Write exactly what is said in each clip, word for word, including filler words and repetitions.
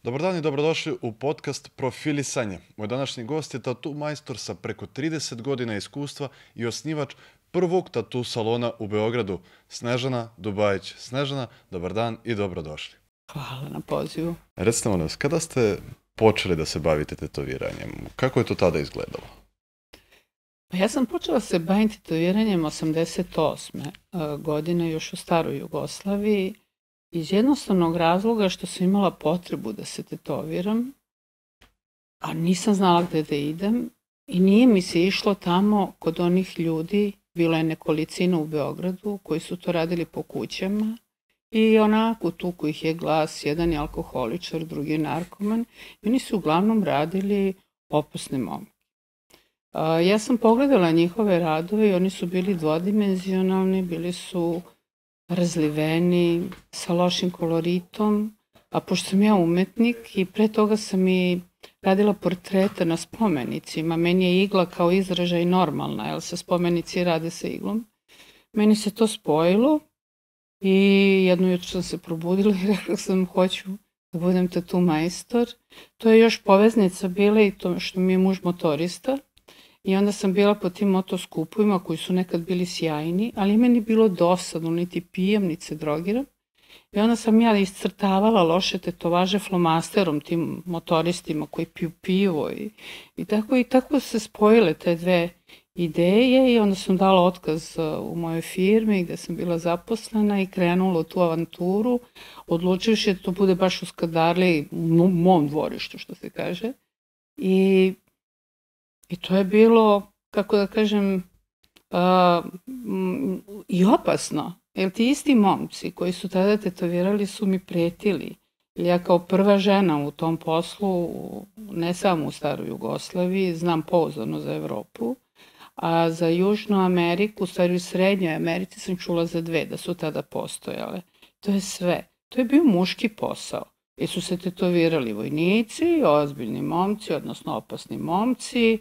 Dobar dan i dobrodošli u podcast Profilisanje. Moj današnji gost je tatu majstor sa preko trideset godina iskustva i osnivač prvog tatu salona u Beogradu, Snežana Dubajić. Snežana, dobar dan i dobrodošli. Hvala na pozivu. Recite molim vas, kada ste počeli da se bavite tetoviranjem? Kako je to tada izgledalo? Pa ja sam počela se baviti tetoviranjem osamdeset osme godine, još u staroj Jugoslaviji, iz jednostavnog razloga što sam imala potrebu da se tetoviram, a nisam znala gde da idem i nije mi se išlo tamo kod onih ljudi, bilo je nekolicina u Beogradu koji su to radili po kućama i onako tuku ih je glas, jedan je alkoholičar, drugi je narkoman i oni su uglavnom radili opasne momke. Ja sam pogledala njihove radove i oni su bili dvodimenzionalni, bili su razliveni, sa lošim koloritom, a pošto sam ja umetnik i pre toga sam i radila portrete na spomenicima, meni je igla kao izražaj normalna, jer se spomenici rade sa iglom. Meni se to spojilo i jedno jutro sam se probudila i rekla sam hoću da budem tatu majstor. To je još poveznica bila i to što mi je muž motorista. I onda sam bila po tim motoskupovima koji su nekad bili sjajni, ali meni bilo dosadno, niti pijem, niti se drogiram. I onda sam ja iscrtavala loše tetovaže flomasterom tim motoristima koji piju pivo i, i, tako, i tako se spojile te dve ideje i onda sam dala otkaz u mojoj firmi gde sam bila zaposlena i krenula u tu avanturu, odlučivši da to bude baš u Skadarliji, u mom dvorištu što se kaže. I I to je bilo, kako da kažem, uh, i opasno. Jer ti isti momci koji su tada tetovirali su mi pretili. Jer ja kao prva žena u tom poslu, ne samo u staroj Jugoslaviji, znam pouzdano za Evropu, a za Južnu Ameriku, u stvari u Srednjoj Americi sam čula za dve da su tada postojale. To je sve. To je bio muški posao. Jer su se tetovirali vojnici, ozbiljni momci, odnosno opasni momci,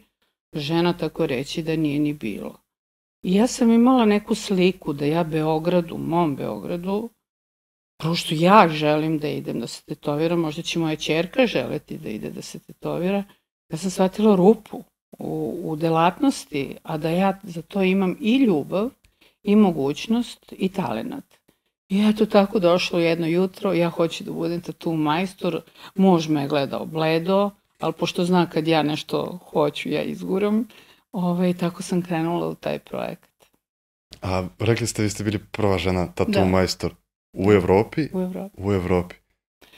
žena tako reći da nije ni bilo. I ja sam imala neku sliku da ja Beogradu, mom Beogradu, pošto ja želim da idem da se tetoviram, možda će moja ćerka želeti da ide da se tetovira, ja sam shvatila rupu u, u delatnosti, a da ja za to imam i ljubav, i mogućnost, i talenat. I eto tako došlo jedno jutro, ja hoću da budem tatu majstor, muž me je gledao bledo, ali pošto zna kad ja nešto hoću, ja izguram, ovaj, tako sam krenula u taj projekat. A rekli ste, vi ste bili prva žena tatu Da. majstor u Evropi? U Evropi. U Evropi.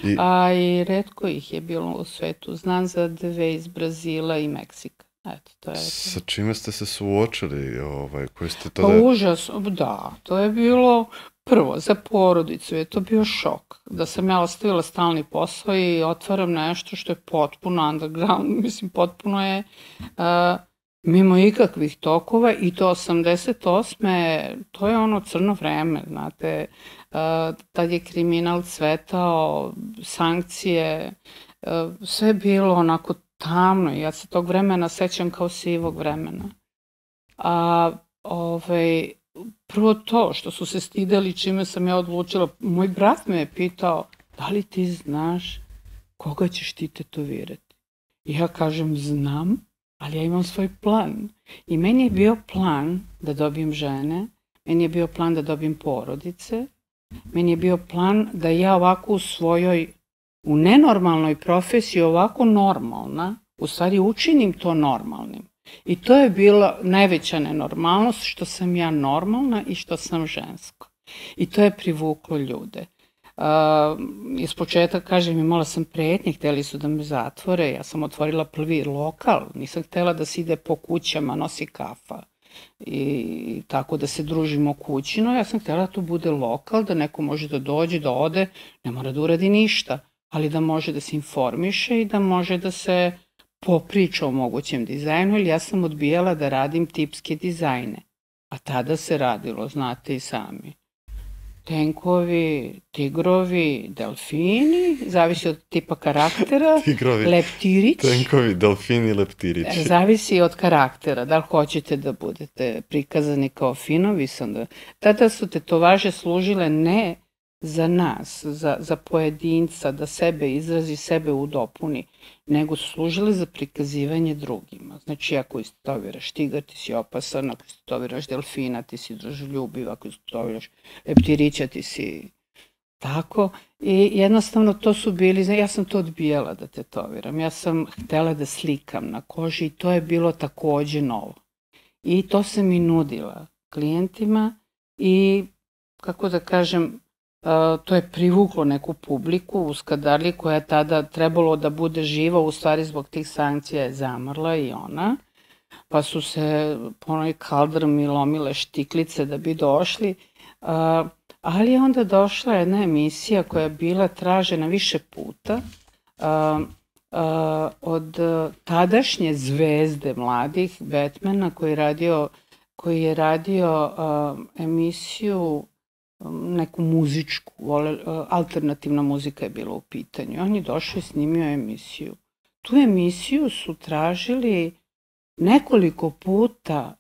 I, A i retko ih je bilo u svetu. Znam za dve iz Brazila i Meksika. Eto, to je... sa čime ste se suočili? Ovaj, koji ste Pa tada... užas, da, to je bilo prvo, za porodicu je to bio šok. Da sam ja ostavila stalni posao i otvaram nešto što je potpuno underground, mislim potpuno je uh, mimo ikakvih tokova i to osamdeset osme to je ono crno vreme, znate, uh, tad je kriminal cvetao, sankcije, uh, sve je bilo onako tamno i ja se tog vremena sećam kao sivog vremena. A ovaj, prvo to što su se stideli čime sam ja odlučila, moj brat me je pitao da li ti znaš koga ćeš ti tetovirati. I ja kažem znam, ali ja imam svoj plan. I meni je bio plan da dobijem žene, meni je bio plan da dobijem porodice, meni je bio plan da ja ovako u svojoj, u nenormalnoj profesiji ovako normalna, u stvari učinim to normalnim. I to je bila najveća nenormalnost, što sam ja normalna i što sam žensko. I to je privuklo ljude. Uh, iz početka, kažem, imala sam pretnje, hteli su da me zatvore, ja sam otvorila prvi lokal, nisam htela da se ide po kućama, nosi kafa i tako da se družimo kućino, ja sam htela da to bude lokal, da neko može da dođe, da ode, ne mora da uradi ništa, ali da može da se informiše i da može da se popriča o mogućem dizajnu, ili ja sam odbijala da radim tipske dizajne. A tada se radilo, znate i sami. Tenkovi, tigrovi, delfini, zavisi od tipa karaktera, Tigrovi, leptirić. tenkovi, delfini, leptirići. Zavisi od karaktera, da li hoćete da budete prikazani kao finovi. Da... Tada su tetovaže služile ne za nas, za, za pojedinca, da sebe izrazi, sebe udopuni, nego su služile za prikazivanje drugima. Znači, ako istotoviraš tigar, ti si opasan, ako istotoviraš delfina, ti si dražoljubiv, ako istotoviraš leptirića, ti si tako. I jednostavno to su bili, ja sam to odbijala da tetoviram, ja sam htela da slikam na koži i to je bilo takođe novo. I to sam i nudila klijentima i, kako da kažem, to je privuklo neku publiku u Skadarliji koja je tada trebalo da bude živa, u stvari zbog tih sankcija je zamrla i ona, pa su se po onoj kaldrmi lomile štiklice da bi došli, ali je onda došla jedna emisija koja je bila tražena više puta od tadašnje zvezde mladih, Batmana, koji je radio, koji je radio emisiju neku muzičku, alternativna muzika je bila u pitanju. On je došao i snimio emisiju. Tu emisiju su tražili nekoliko puta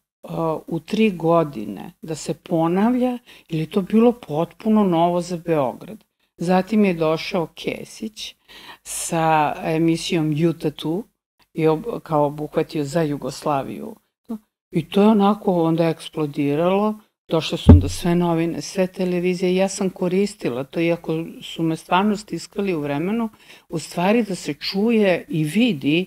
u tri godine da se ponavlja, ili je to bilo potpuno novo za Beograd. Zatim je došao Kesić sa emisijom Juta tu i kao obuhvatio za Jugoslaviju. I to je onako onda eksplodiralo. Došle su onda sve novine, sve televizije i ja sam koristila to, iako su me stvarno stiskali u vremenu, u stvari da se čuje i vidi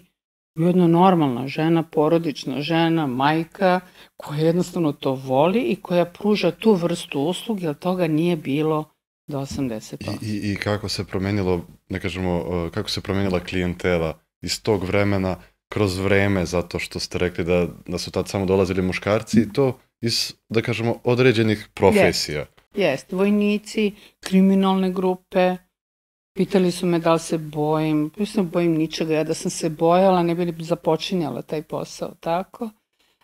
jedna normalna žena, porodična žena, majka, koja jednostavno to voli i koja pruža tu vrstu usluge, jer toga nije bilo do osamdeset osam. I, i, i kako se promenilo, ne kažemo, kako se promenila klijentela iz tog vremena kroz vreme, zato što ste rekli da, da su tad samo dolazili muškarci i to iz, da kažemo, određenih profesija. Jeste, vojnici, kriminalne grupe, pitali su me da li se bojim, pa se bojim ničega, ja da sam se bojala ne bi li započinjala taj posao, tako.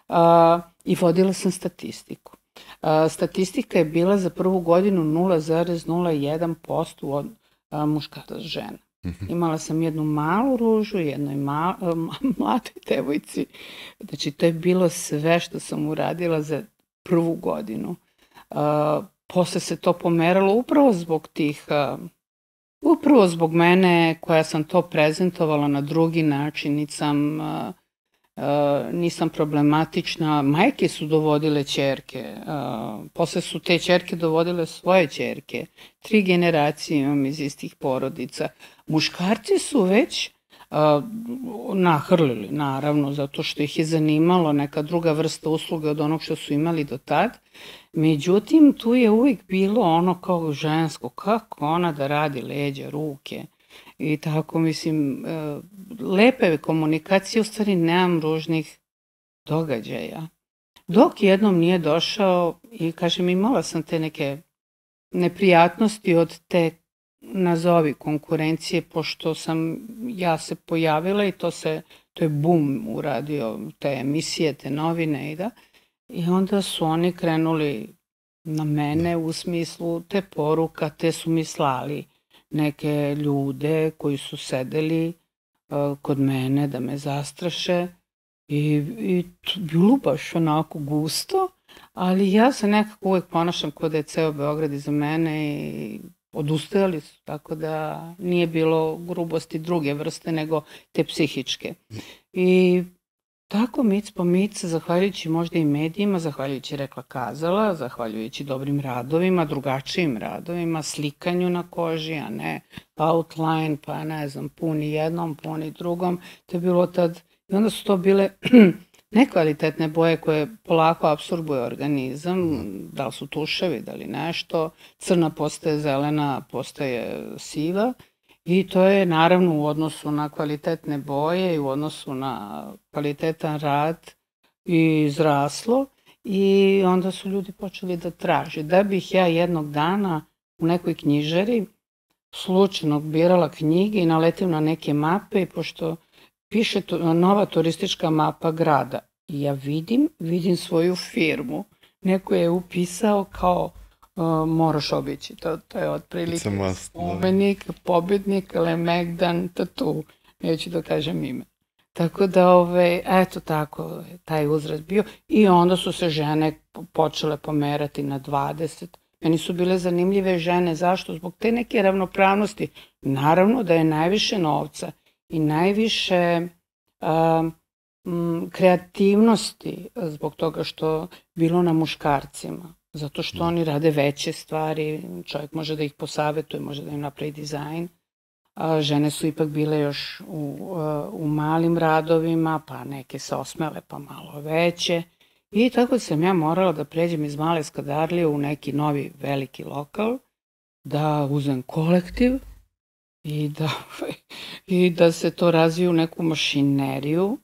A, I vodila sam statistiku. A, statistika je bila za prvu godinu nula zarez nula jedan posto od a, muškaraca žena. Imala sam jednu malu ružu, jednoj ma, mladoj devojci. Znači, to je bilo sve što sam uradila za prvu godinu. Uh, posle se to pomeralo upravo zbog tih, uh, upravo zbog mene koja sam to prezentovala na drugi način, nisam, uh, uh, nisam problematična. Majke su dovodile ćerke, uh, posle su te ćerke dovodile svoje ćerke. Tri generacije imam iz istih porodica. Muškarci su već uh, nahrlili, naravno, zato što ih je zanimalo neka druga vrsta usluge od onog što su imali do tad. Međutim, tu je uvijek bilo ono kao žensko, kako ona da radi leđa, ruke i tako, mislim, uh, lepe komunikacije, u stvari nemam ružnih događaja. Dok jednom nije došao i, kažem, imala sam te neke neprijatnosti od te nazovi konkurencije, pošto sam ja se pojavila i to se, to je bum uradio, te emisije, te novine i da. I onda su oni krenuli na mene u smislu te poruka, te su mi slali neke ljude koji su sedeli uh, kod mene da me zastraše i, i bilo baš onako gusto, ali ja se nekako uvek ponašam kao da je ceo Beograd iza mene i odustajali su, tako da nije bilo grubosti druge vrste nego te psihičke. I tako mic po mic, zahvaljujući možda i medijima, zahvaljujući rekla kazala, zahvaljujući dobrim radovima, drugačijim radovima, slikanju na koži, a ne outline, pa ne znam, puni jednom, puni drugom, to je bilo tad, i onda su to bile nekvalitetne boje koje polako apsorbuje organizam, da li su tuševi, da li nešto, crna postaje zelena, postaje siva i to je naravno u odnosu na kvalitetne boje i u odnosu na kvalitetan rad i izraslo i onda su ljudi počeli da traže. Da bih ja jednog dana u nekoj knjižari slučajno birala knjige i naletim na neke mape i pošto piše to, nova turistička mapa grada. I ja vidim, vidim svoju firmu. Neko je upisao kao uh, moraš obići. To, to je otprilike spomenik, pobednik, Lemegdan, tatu. Neću da kažem ime. Tako da, ove, eto tako, taj uzrast bio. I onda su se žene počele pomerati na dvadeset. Meni su bile zanimljive žene. Zašto? Zbog te neke ravnopravnosti. Naravno da je najviše novca i najviše a, m, kreativnosti zbog toga što bilo na muškarcima. Zato što oni rade veće stvari, čovjek može da ih posavetuje, može da im napravi dizajn. A žene su ipak bile još u, u malim radovima, pa neke se osmele pa malo veće. I tako sam ja morala da pređem iz male Skadarlije u neki novi veliki lokal, da uzem kolektiv i da, i da se to razvije u neku mašineriju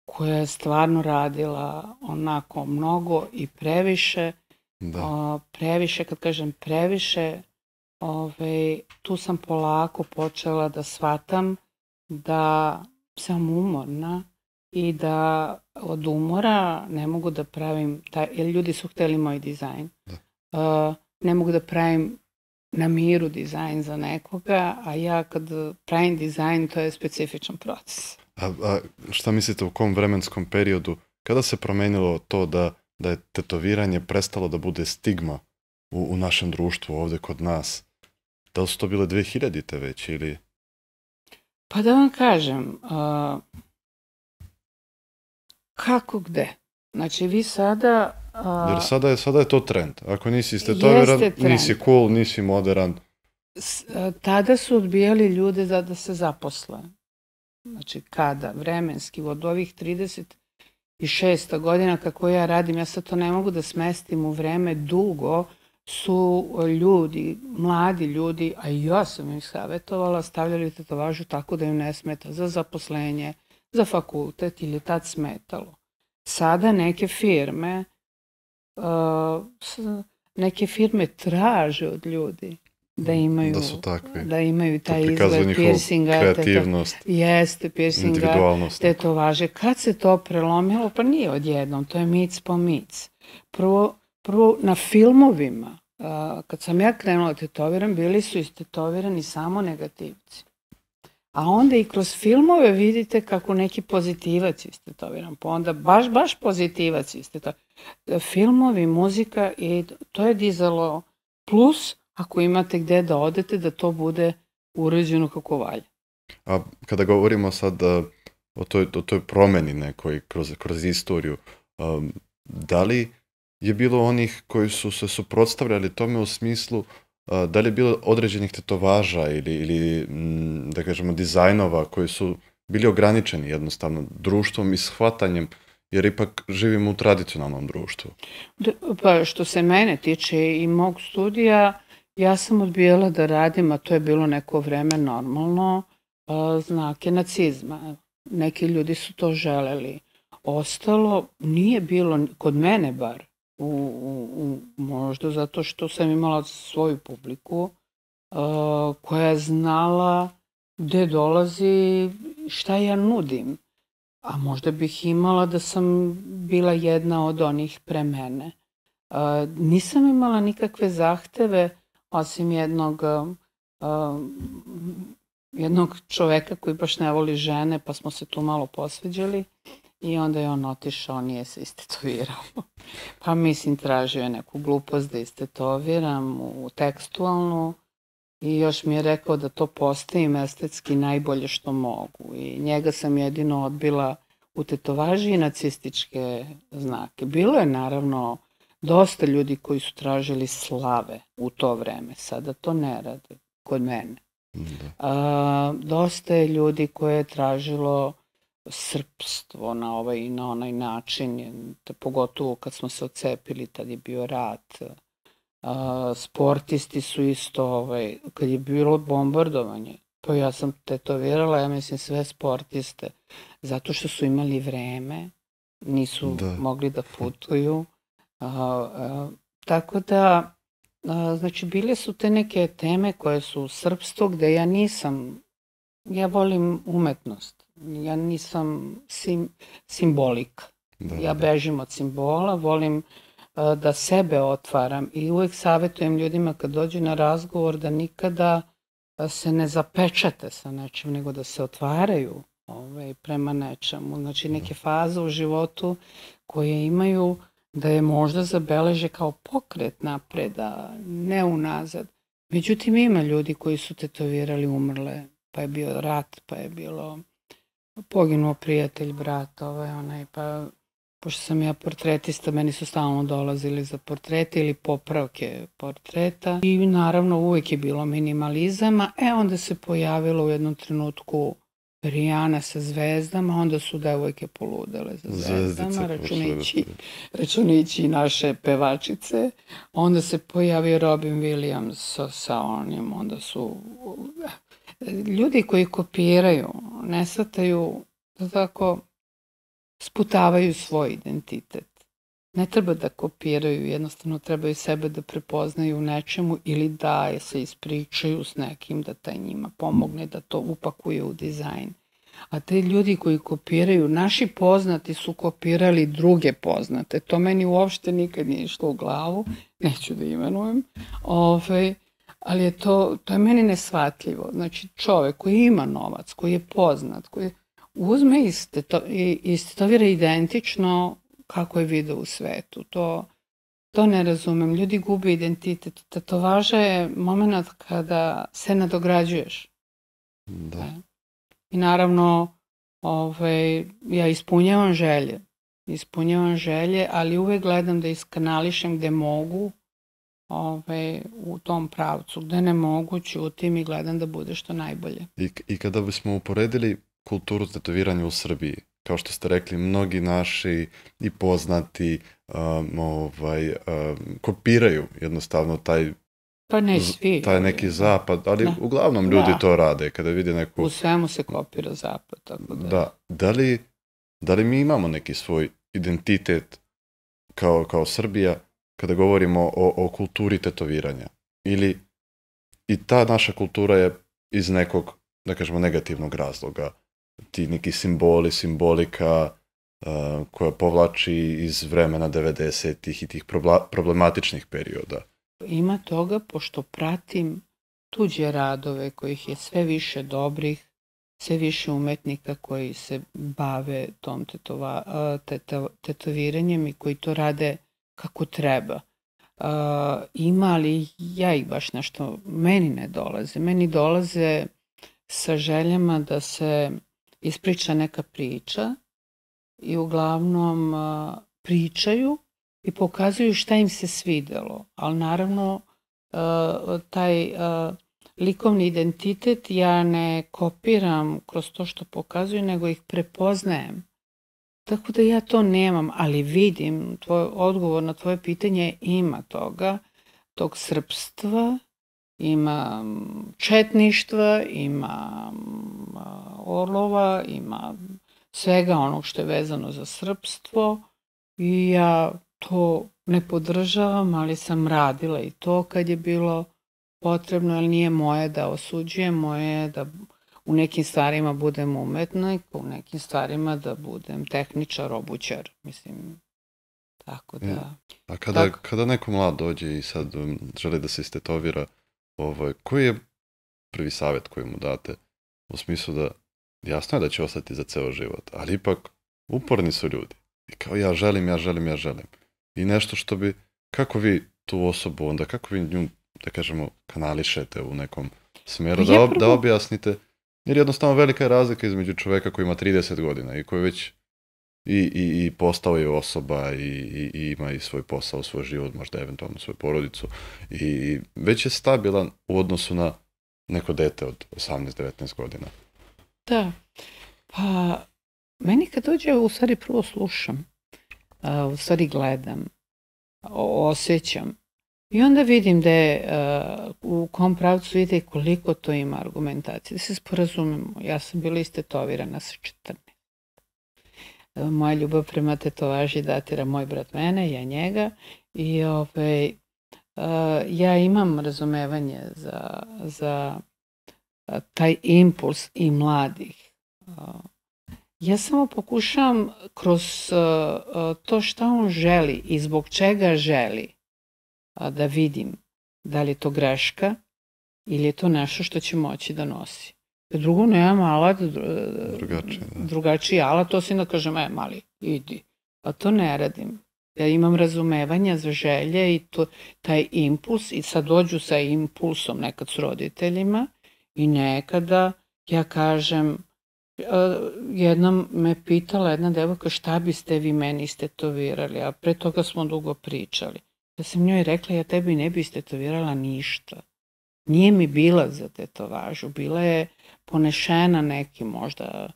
koja je stvarno radila onako mnogo i previše. Da. O, previše, kad kažem previše, ove, tu sam polako počela da shvatam da sam umorna i da od umora ne mogu da pravim, taj, jer ljudi su hteli moj dizajn, uh, ne mogu da pravim na miru dizajn za nekoga, a ja kad pravim dizajn, to je specifičan proces. A, a šta mislite u kom vremenskom periodu, kada se promenilo to da, da je tetoviranje prestalo da bude stigma u, u našem društvu ovde kod nas? Da li su to bile dve hiljadite već ili... Pa da vam kažem, uh, kako gde? Znači vi sada... Uh, Jer sada je, sada je to trend. Ako nisi istetoviran, nisi cool, nisi modern. S, uh, tada su odbijali ljude da, da se zaposle. Znači kada? Vremenski, od ovih trideset šesta godina kako ja radim, ja sad to ne mogu da smestim u vreme dugo, su ljudi, mladi ljudi, a i ja sam ih savjetovala, stavljali tetovažu tako da im ne smeta za zaposlenje, za fakultet ili tad smetalo. Sada neke firme, uh, neke firme traže od ljudi da imaju, da su takvi, da imaju taj izgled piercinga, kreativnost, teto, jeste piercinga, tetovaže. Kad se to prelomilo? Pa nije odjednom, to je mic po mic. Prvo, prvo na filmovima, uh, kad sam ja krenula da tetoviram, bili su istetovirani samo negativci. A onda i kroz filmove vidite kako neki pozitivac istetoviran, pa onda baš, baš pozitivac istetoviran. Filmovi, muzika i to je dizalo plus ako imate gde da odete da to bude uređeno kako valja. A kada govorimo sad uh, o, toj, o toj promeni nekoj kroz, kroz istoriju, um, da li je bilo onih koji su se suprotstavljali tome u smislu uh, da li je bilo određenih tetovaža ili, ili m, da kažemo dizajnova koji su bili ograničeni jednostavno društvom i shvatanjem, jer ipak živimo u tradicionalnom društvu? Pa što se mene tiče i mog studija, ja sam odbijala da radim, a to je bilo neko vreme normalno, znake nacizma. Neki ljudi su to želeli. Ostalo nije bilo, kod mene bar, u, u, možda zato što sam imala svoju publiku koja je znala gde dolazi, šta ja nudim. A možda bih imala da sam bila jedna od onih pre mene. Nisam imala nikakve zahteve, osim jednog, uh, jednog čoveka koji baš ne voli žene, pa smo se tu malo posveđali i onda je on otišao, nije se istetovirao. Pa mislim, tražio je neku glupost da istetoviram u tekstualnu i još mi je rekao da to postavim estetski najbolje što mogu. I njega sam jedino odbila u tetovaži i nacističke znake. Bilo je naravno dosta ljudi koji su tražili slave u to vreme, sada to ne rade kod mene. A, dosta je ljudi koje je tražilo srpstvo na ovaj i na onaj način, pogotovo kad smo se odcepili, tad je bio rat. A, sportisti su isto, ovaj, kad je bilo bombardovanje, pa ja sam tetovirala, ja mislim sve sportiste, zato što su imali vreme, nisu da. mogli da putuju. Uh, uh, tako da, uh, znači, bile su te neke teme koje su srpstvo, gde ja nisam, ja volim umetnost, ja nisam sim, simbolika. Da, ja bežim od simbola, volim uh, da sebe otvaram i uvek savjetujem ljudima kad dođu na razgovor da nikada uh, se ne zapečate sa nečim, nego da se otvaraju ovaj, prema nečemu. Znači, neke faze u životu koje imaju da je možda zabeleže kao pokret napred, a ne unazad. Međutim, ima ljudi koji su tetovirali, umrle, pa je bio rat, pa je bilo poginuo prijatelj, brat, ovaj, onaj, pa pošto sam ja portretista, meni su stalno dolazili za portrete ili popravke portreta i naravno uvijek je bilo minimalizama, e onda se pojavilo u jednom trenutku Rijana sa zvezdama, onda su devojke poludele za zvezdama, računići, računići naše pevačice, onda se pojavio Robin Williams sa, sa onim, onda su ljudi koji kopiraju, ne shvataju da tako sputavaju svoj identitet. Ne treba da kopiraju, jednostavno trebaju sebe da prepoznaju u nečemu ili da se ispričaju s nekim, da taj njima pomogne, da to upakuje u dizajn. A te ljudi koji kopiraju, naši poznati su kopirali druge poznate. To meni uopšte nikad nije išlo u glavu, neću da imenujem. Ove, ali je to, to je meni neshvatljivo. Znači čovek koji ima novac, koji je poznat, koji uzme i istetovira identično kako je video u svetu. To, to ne razumem. Ljudi gube identitet. Tetovaža je moment kada se nadograđuješ. Da. I naravno, ovaj, ja ispunjavam želje. Ispunjavam želje, ali uvek gledam da iskanališem gde mogu, ovaj, u tom pravcu. Gde ne mogu, ćutim i gledam da bude što najbolje. I, i kada bismo uporedili kulturu tetoviranja u Srbiji, kao što ste rekli, mnogi naši i poznati um, ovaj, um, kopiraju jednostavno taj, pa ne svi, taj neki zapad, ali da. Uglavnom ljudi da. To rade kada vide neku... U svemu se kopira zapad. Tako da. Da. Da li, da li mi imamo neki svoj identitet kao, kao Srbija kada govorimo o, o kulturi tetoviranja? Ili i ta naša kultura je iz nekog, da kažemo, negativnog razloga? Ti neki simboli, simbolika uh, koja povlači iz vremena devedesetih i tih problematičnih perioda. Ima toga, pošto pratim tuđe radove kojih je sve više dobrih, sve više umetnika koji se bave tom tetova, teto, tetoviranjem i koji to rade kako treba. Uh, ima li ja ih baš nešto, meni ne dolaze. Meni dolaze sa željama da se ispriča neka priča i uglavnom uh, pričaju i pokazuju šta im se svidelo. Ali naravno uh, taj uh, likovni identitet ja ne kopiram kroz to što pokazuju, nego ih prepoznajem. Tako da ja to nemam, ali vidim, tvoj odgovor na tvoje pitanje, ima toga, tog srpstva, ima četništva, ima orlova, ima svega onog što je vezano za srpstvo i ja to ne podržavam, ali sam radila i to kad je bilo potrebno, ali nije moje da osuđujem, moje je da u nekim stvarima budem umetnik, u nekim stvarima da budem tehničar, obućar, mislim, tako da... A kada, tako... kada neko mlad dođe i sad um, želi da se istetovira, ovaj, koji je prvi savjet koji mu date? U smislu da, jasno je da će ostati za ceo život, ali ipak uporni su ljudi. I kao ja želim, ja želim, ja želim. I nešto što bi, kako vi tu osobu onda, kako vi nju, da kažemo, kanališete u nekom smjeru, da, ob, da objasnite. Jer jednostavno velika je razlika između čoveka koji ima trideset godina i koji već i, i, i postao je osoba i, i, i ima i svoj posao, svoj život, možda eventualno svoju porodicu i već je stabilan u odnosu na neko dete od osamnaest devetnaest godina. Da, pa meni kad dođe u stvari prvo slušam, u stvari gledam, osjećam. I onda vidim da je, uh, u kom pravcu ide koliko to ima argumentacije. Da se sporazumemo, ja sam bila istetovirana sa četrnaest. Uh, moja ljubav prema tetovaži datira moj brat mene, ja njega. I ovaj, uh, ja imam razumevanje za, za uh, taj impuls i mladih. Uh, ja samo pokušavam kroz uh, uh, to šta on želi i zbog čega želi, da vidim da li je to greška ili je to nešto što će moći da nosi. Drugo, nemam alat, drugačiji, drugačiji alat, to si da kažem, e, mali, idi. A to ne radim. Ja imam razumevanja za želje i to, taj impuls i sad dođu sa impulsom nekad s roditeljima i nekada ja kažem, jednom me pitala jedna devojka šta biste vi meni istetovirali, a pre toga smo dugo pričali. Ja sam njoj rekla, ja tebi ne bi istetovirala ništa. Nije mi bila za tetovažu, bila je ponešena nekim možda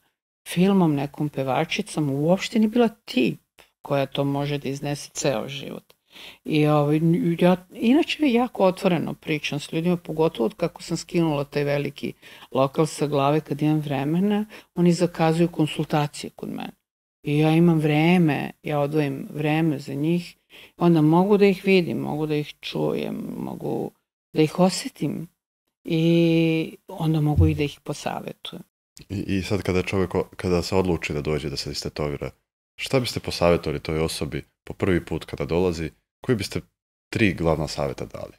filmom, nekom pevačicom, uopšte nije bila tip koja to može da iznese ceo život. I ovaj, ja, inače jako otvoreno pričam s ljudima, pogotovo od kako sam skinula taj veliki lokal sa glave kad imam vremena, oni zakazuju konsultacije kod mene. I ja imam vreme, ja odvojim vreme za njih, onda mogu da ih vidim, mogu da ih čujem, mogu da ih osetim i onda mogu i da ih posavetujem. I, i sad kada čovjek, kada se odluči da dođe da se istetovira, šta biste posavjetovali toj osobi po prvi put kada dolazi? Koji biste tri glavna savjeta dali?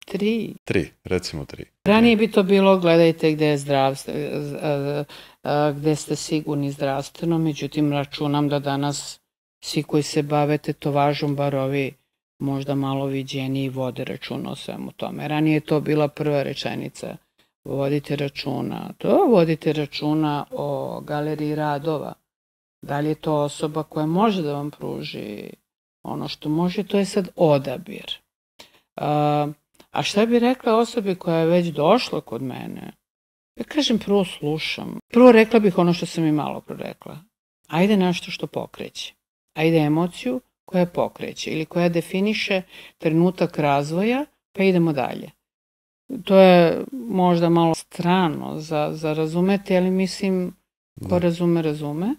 Tri? Tri, recimo tri. Ranije bi to bilo gledajte gde je zdravstvo, gde ste sigurni zdravstveno, međutim računam da danas svi koji se bave tetovažom, bar ovi možda malo viđeniji, vode računa o svemu tome. Ranije je to bila prva rečenica. Vodite računa. To vodite računa o galeriji radova. Da li je to osoba koja može da vam pruži ono što može, to je sad odabir. A, a šta bi rekla osobi koja je već došla kod mene? Ja kažem, prvo slušam. Prvo rekla bih ono što sam i malo prorekla. Ajde nešto što pokreće. Ajde emociju koja pokreće ili koja definiše trenutak razvoja, pa idemo dalje. To je možda malo strano za, za razumeti, ali mislim, ko da. razume, razume.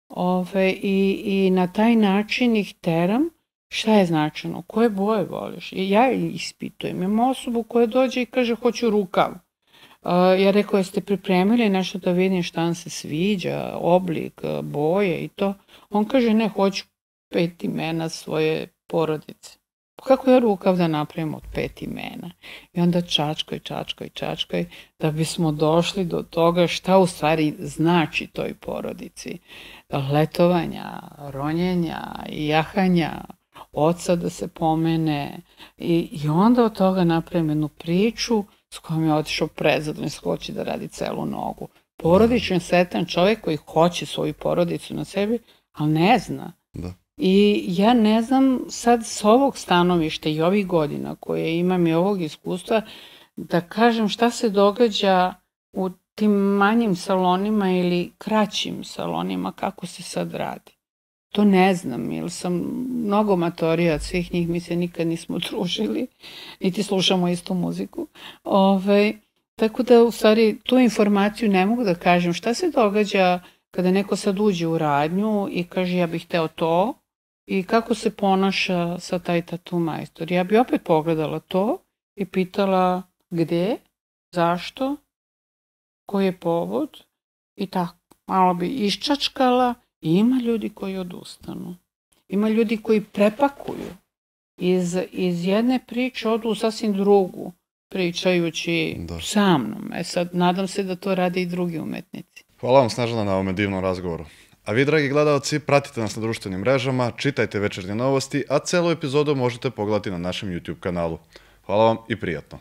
Ove, i, I na taj način ih teram šta je značajno, koje boje voliš. I ja ispitujem. Imam osobu koja dođe i kaže hoću rukav. Uh, ja rekao, jeste pripremili nešto da vidim šta vam se sviđa, oblik, boje i to. On kaže ne, hoću pet imena svoje porodice. Kako ja rukav da napravim od pet imena? I onda čačkoj, čačkoj, čačkoj, da bismo došli do toga šta u stvari znači toj porodici. Letovanja, ronjenja, jahanja, oca da se pomene. I, i onda od toga napravim jednu priču s kojom je otišao prezadovoljno, hoće da radi celu nogu. Porodičan, sretan čovjek koji hoće svoju porodicu na sebi, ali ne zna. Da. I ja ne znam sad s ovog stanovišta i ovih godina koje imam i ovog iskustva da kažem šta se događa u tim manjim salonima ili kraćim salonima, kako se sad radi. To ne znam, jer sam mnogo matorija od svih njih, mi se nikad nismo družili, niti slušamo istu muziku. Ove, tako da u stvari tu informaciju ne mogu da kažem šta se događa kada neko sad uđe u radnju i kaže ja bih hteo to, i kako se ponaša sa taj tatu majstor. Ja bi opet pogledala to i pitala gde, zašto, koji je povod i tako. Malo bi iščačkala i ima ljudi koji odustanu. Ima ljudi koji prepakuju. Iz, iz jedne priče odu u sasvim drugu, pričajući da. sa mnom. E sad, nadam se da to rade i drugi umetnici. Hvala vam, Snežana, na ovom divnom razgovoru. A vi, dragi gledalci, pratite nas na društvenim mrežama, čitajte večernje novosti, a celu epizodu možete pogledati na našem YouTube kanalu. Hvala vam i prijatno.